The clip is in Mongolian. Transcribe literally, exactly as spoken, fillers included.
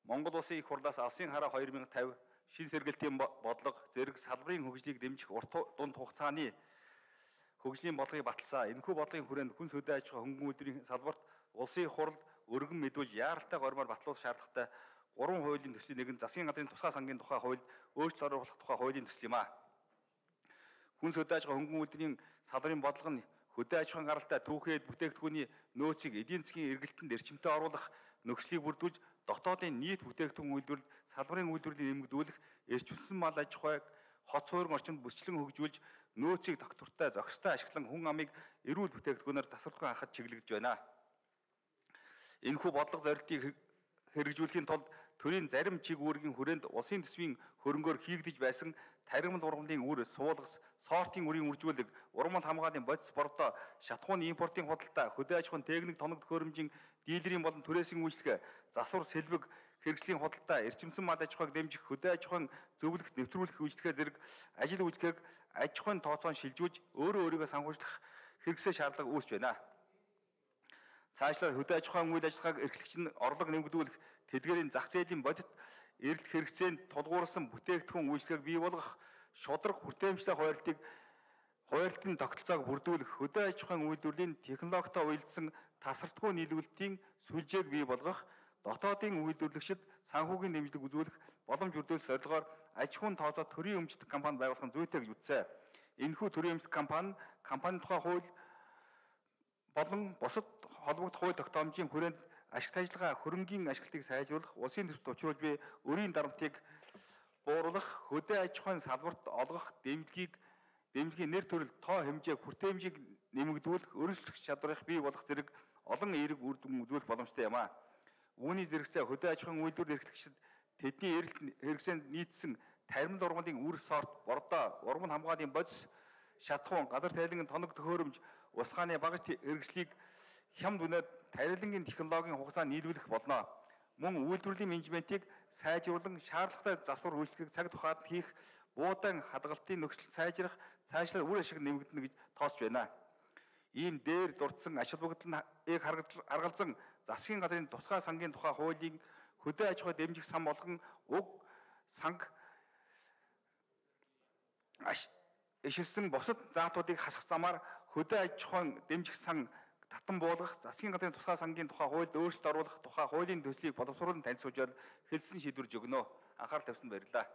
Монгол Улсын их хурлаас Алсын хараа две тысячи пятьдесят шин сэргэлтийн бодлого зэрэг салбарын хөгжлийг дэмжих урт дунд хугацааны хөгжлийн бодлогыг баталсан. Энэхүү бодлогын хүрээнд хүнс хөдөө аж ахуй хөнгөн үйлдвэрийн салбарт улсын их хурл өргөн мэдүүлж яаралтай гормоор батлуулах шаардлагатай гурван хуулийн төслийн нэг нь засгийн газрын тусгай сангийн тухай хуульд өөрчлөлт оруулах тухай хуулийн төсөл юм а. Хүнс хөдөө аж ахуй хөнгөн үйлдвэрийн салбарын бодлого нь хөдөө аж ахуйн гаралтай түүхэд бүтээгдэхүүний нөөцийг эдийн засгийн эргэлтэнд эрчимтэй оруулах нөхцөлийг бүрдүүлж дотоодын нийт бүтээгдэхүүн үйлдвэрлэлд салбарын үйлдвэрлэлийг нэмэгдүүлэх, эрчимсэн мал аж ахуйг хот суурин орчинд бүсчлэн хөгжүүлж нөөцийг доктортой зохистой ашиглан хүн амыг эрүүл бүтээгдэхүүнээр тасралтгүй хангахад чиглэгдэж байна. Энэхүү бодлого зорилтыг хэрэгжүүлэхийн тулд төрийн зарим чиг үүргийн хүрээнд улсын төсвийн хөрөнгөөр хийгдэж байсан тархимд ургамлын үр, суулгас, сортын үрийн үржүүлэг, урмал хамгааллын бодис бордоо, шатхууны импортын худалдаа, хөдөө аж ахуйн техник тоног төхөөрөмжийн дилерийн болон түрээсийн үйлчлэг, засвар сэлбэг хэрэгслийн худалдаа, эрчимсэн мал аж ахуйг дэмжих, хөдөө аж ахуйн зөвлөлт нэвтрүүлэх үйлчлэгээ зэрэг ажил үйлчлэгийг аж ахуйн тооцоон шилжүүлж өөрөө өөрийгөө санхүүжлах хэрэгсээ шаардлага үүсэж байна. Цаашлаад хөдөө аж ахуйн үйл ажиллагааг эрхлэгч нь орлого нэмэгдүүлэх, тэдгээрийн зах зээлийн бодит эрэлт хэрэгцээнд тулгуурсан бүтээгдэхүүн үйлчлэгийг бий болгох, шударга хүртээмжтэй хуваарлтыг хуваарлтын тогтолцоог бүрдүүлэх, хөдөө аж ахуйн үйлдвэрлэлийн технологитой уялдсан тасралтгүй нийлүүлэлтийн сүлжээг бий болгох, дотоодын үйлдвэрлэгчид санхүүгийн дэмжлэг үзүүлэх боломж бүрдүүлэх зорилгоор аж ахуйн тооцоо төрийн өмчтөг компани байгуулах нь зүйтэй гэж үзсэн. Энэхүү төрийн өмчтөг компани компани тухай хууль болон бусад холбогдох хууль тогтоомжийн хүрээнд ашигт ажиллагаа хөрөнгийн ашиглалтыг сайжруулах, улсын төсөвт учруулж буй өрийн дарамтыг бууруулах, хөдөө аж ахуйн салбарт олгох дэмжлэгийг дэмжлэгийн нэр төрөл тоо хэмжээ хүртээмжийг нэмэгдүүлэх, өрсөлдөх чадварыг бий болгох зэрэг олон эерэг үр дүн үзүүлэх боломжтой юм а. Үүний зэрэгцээ хөдөө аж ахуйн үйлдвэр эрхлэгчид тэдний эрэлт хэрэгсэнд нийцсэн тархимд ургамлын үр, сорт, бордоо, урмал хамгааллын бодис, шатхуун, газар тайлангийн тоног төхөөрөмж, усгааны багаж хэрэгслийг хямд үнэт тарилангийн технологийн хугацаанд нийлүүлэх болно. Мөн үйлдвэрлэлийн менежментийг сайжруулан шаардлагатай засвар үйлчлэгийг цаг тухайд хийх, буудаан хадгалтын нөхцөл сайжрах, цаашлаад үр ашиг нэмэгдэнэ гэж тооцож байна. Ийм дээр дурдсан ач холбогдолыг харгалзан засгийн газрын тусгай сангийн тухай хуулийн хөдөө аж ахуй дэмжих сан болгон уг санг ишилсэн бусад заатуудыг хасах замаар хөдөө аж ахуйн дэмжих сан татан буулгах, засгийн газрын тусгай сангийн тухай хуульд өөрчлөлт оруулах тухай хуулийн төслийг боловсруулан танилцуулж хэлсэн шийдвэрж өгнө. Анхаарал тавьсанд баярлалаа.